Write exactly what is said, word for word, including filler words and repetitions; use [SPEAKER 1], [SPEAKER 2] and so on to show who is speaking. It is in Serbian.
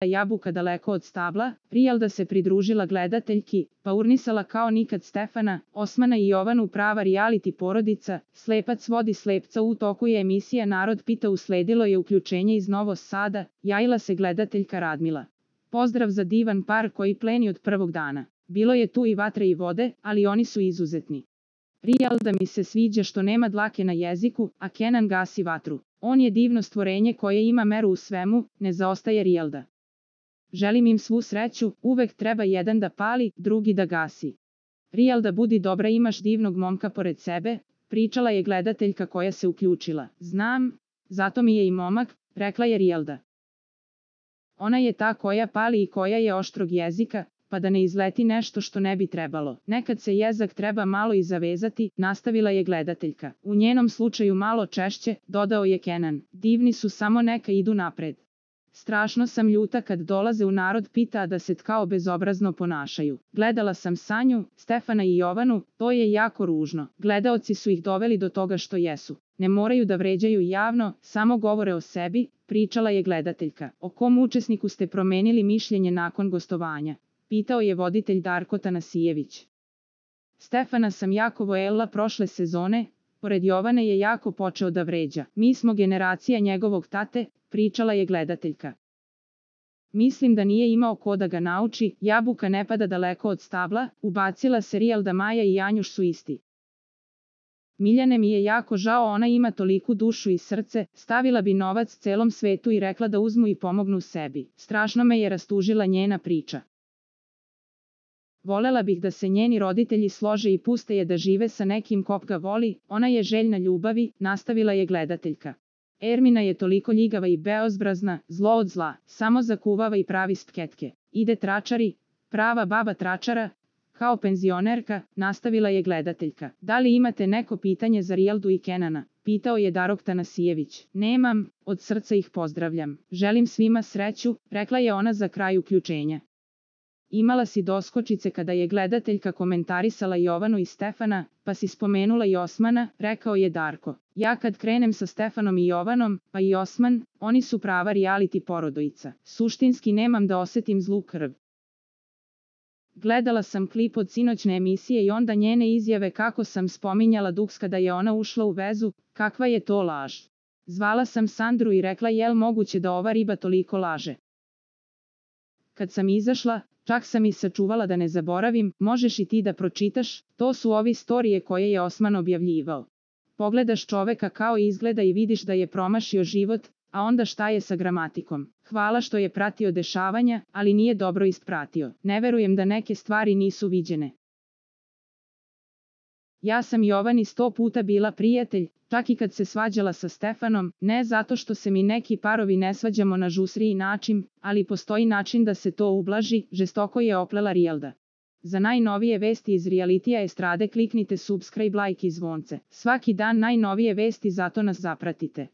[SPEAKER 1] jabuka daleko od stabla, Rijelda se pridružila gledateljki, pa urnisala kao nikad Stefana, Osmana i Jovanu prava reality porodica, Slepac vodi slepca. U toku je emisija Narod pita, usledilo je uključenje iz Novog Sada, javila se gledateljka Radmila. Pozdrav za divan par koji pleni od prvog dana. Bilo je tu i vatre i vode, ali oni su izuzetni. Rijelda mi se sviđa što nema dlake na jeziku, a Kenan gasi vatru. On je divno stvorenje koje ima meru u svemu, ne zaostaje Rijelda. Želim im svu sreću, uvek treba jedan da pali, drugi da gasi. Rijelda, budi dobra, imaš divnog momka pored sebe, pričala je gledateljka koja se uključila. Znam, zato mi je i momak, rekla je Rijelda. Ona je ta koja pali i koja je oštrog jezika, pa da ne izleti nešto što ne bi trebalo. Nekad se jezak treba malo i zavezati, nastavila je gledateljka. U njenom slučaju malo češće, dodao je Kenan. Divni su, samo neka idu napred. Strašno sam ljuta kad dolaze u Narod pita, a da se kao bezobrazno ponašaju. Gledala sam Sanju, Stefana i Jovanu, to je jako ružno. Gledaoci su ih doveli do toga što jesu. Ne moraju da vređaju javno, samo govore o sebi, pričala je gledateljka. O kom učesniku ste promenili mišljenje nakon gostovanja? Pitao je voditelj Darko Tanasijević. Stefana sam jako voljela prošle sezone, pored Jovane je jako počeo da vređa. Mi smo generacija njegovog tate, pričala je gledateljka. Mislim da nije imao ko da ga nauči, jabuka ne pada daleko od stabla, ubacila se Rijelda. Maja i Janjuš su isti. Miljane mi je jako žao, ona ima toliku dušu i srce, stavila bi novac celom svetu i rekla da uzmu i pomognu sebi. Strašno me je rastužila njena priča. Volela bih da se njeni roditelji slože i puste je da žive sa nekim kog ga voli, ona je željna ljubavi, nastavila je gledateljka. Ermina je toliko ljigava i beozbrazna, zlo od zla, samo zakuvava i pravi spketke. Ide tračari, prava baba tračara, kao penzionerka, nastavila je gledateljka. Da li imate neko pitanje za Rijeldu i Kenana? Pitao je Darko Tanasijević. Nemam, od srca ih pozdravljam. Želim svima sreću, rekla je ona za kraj uključenja. Imala si doskočice kada je gledateljka komentarisala Jovanu i Stefana, pa si spomenula i Osmana, rekao je Darko. Ja kad krenem sa Stefanom i Jovanom, pa i Osman, oni su prava reality porodica. Suštinski nemam da osetim zlu krv. Gledala sam klip od sinoćne emisije i onda njene izjave kako sam spominjala duks kada je ona ušla u vezu, kakva je to laž. Zvala sam Sandru i rekla, jel moguće da ova riba toliko laže? Kad sam izašla, čak sam i sačuvala da ne zaboravim, možeš i ti da pročitaš, to su ovi storije koje je Osman objavljivao. Pogledaš čoveka kao izgleda i vidiš da je promašio život, a onda šta je sa gramatikom. Hvala što je pratio dešavanja, ali nije dobro ispratio. Ne verujem da neke stvari nisu viđene. Ja sam Jovani sto puta bila prijatelj, čak i kad se svađala sa Stefanom, ne zato što se mi neki parovi ne svađamo na žusriji način, ali postoji način da se to ublaži, žestoko je oplela Rijelda. Za najnovije vesti iz realitija estrade kliknite subscribe, like i zvonce. Svaki dan najnovije vesti, zato nas zapratite.